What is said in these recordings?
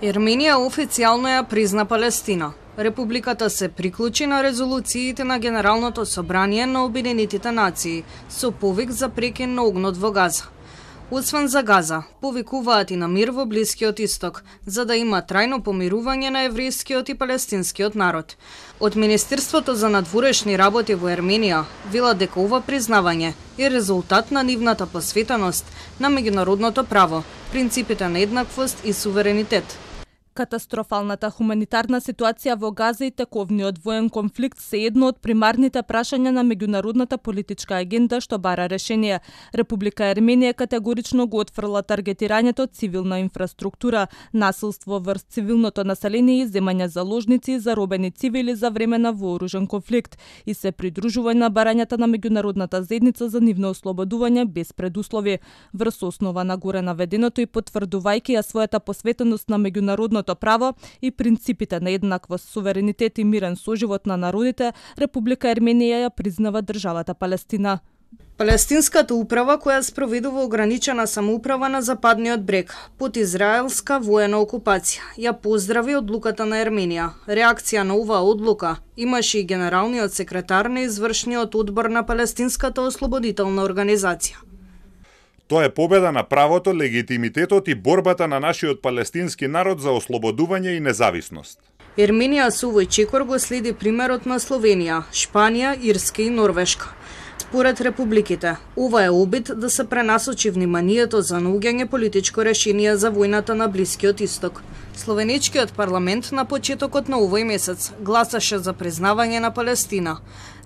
Ерменија официјално ја призна Палестина. Републиката се приклучи на резолуциите на Генералното собрание на Обединетите нации со повик за прекин на огнот во Газа. Освен за Газа, повикуваат и на мир во Блискиот Исток, за да има трајно помирување на еврејскиот и палестинскиот народ. Од Министерството за надворешни работи во Ерменија велат дека ова признавање е резултат на нивната посветеност на меѓународното право, принципите на еднаквост и суверенитет. Катастрофалната хуманитарна ситуација во Газа и тековниот воен конфликт се едно од примарните прашања на меѓународната политичка агенда што бара решение. Република Ерменија категорично го отфрла таргетирањето цивилна инфраструктура, насилство врз цивилното население и земање заложници и заробени цивили за време на вооружен конфликт и се придружува на барањата на меѓународната заедница за нивно ослободување без предуслови. Врз основа на горе наведеното и потврдувајќи ја својата посветеност на меѓународното право и принципите на еднаквост, суверенитет и мирен соживот на народите, Република Ерменија ја признава државата Палестина. Палестинската управа, која спроведува ограничена самоуправа на Западниот брег под израелска воена окупација, ја поздрави одлуката на Ерменија. Реакција на оваа одлука имаше и генералниот секретар на извршниот одбор на Палестинската ослободителна организација. Тоа е победа на правото, легитимитетот и борбата на нашиот палестински народ за ослободување и независност. Ерменија со овој чекор го следи примерот на Словенија, Шпанија, Ирска и Норвешка. Според републиките, ова е обид да се пренасочи вниманието за наоѓање политичко решение за војната на Блискиот Исток. Словеничкиот парламент на почетокот на овој месец гласаше за признавање на Палестина.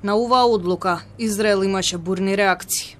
На оваа одлука Израел имаше бурни реакции.